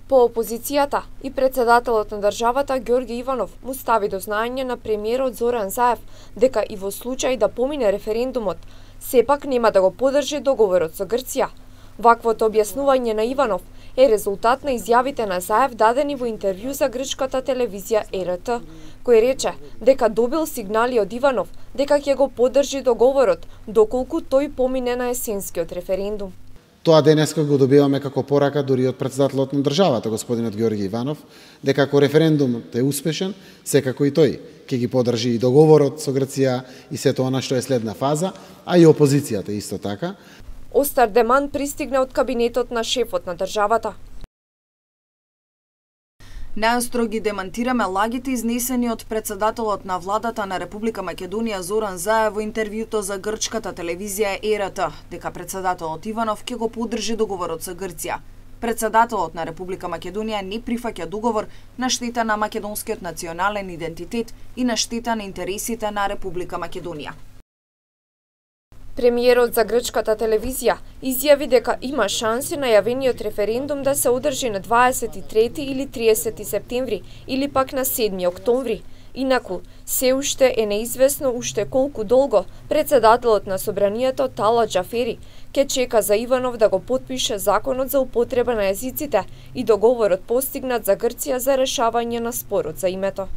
По опозицијата и председателот на државата Ѓорги Иванов му стави до знаење на премиерот Зоран Заев дека и во случај да помине референдумот, сепак нема да го поддржи договорот со Грција. Ваквото објаснување на Иванов е резултат на изјавите на Заев дадени во интервју за грчката телевизија ЕРТ, кој рече дека добил сигнали од Иванов дека ќе го поддржи договорот доколку тој помине на есенскиот референдум. Тоа денеска го добиваме како порака дури од председателот на државата, господинот Ѓорги Иванов, дека ако референдумот е успешен, секако и тој ќе ги поддржи и договорот со Грција и сето она што е следна фаза, а и опозицијата исто така. Остар деман пристигна од кабинетот на шефот на државата. Најостро ги демантираме лагите изнесени од председателот на владата на Република Македонија Зоран Заев во интервјуто за грчката телевизија ЕРТ, дека председателот Иванов ќе го поддржи договорот со Грција. Председателот на Република Македонија не прифаќа договор на штета на македонскиот национален идентитет и на штета на интересите на Република Македонија. Премиерот за грчката телевизија изјави дека има шанси најавениот референдум да се одржи на 23 или 30 септември или пак на 7 октомври. Инаку, се уште е неизвестно уште колку долго председателот на собранието Тала Џафери ќе чека за Иванов да го потпише законот за употреба на езиците и договорот постигнат за Грција за решавање на спорот за името.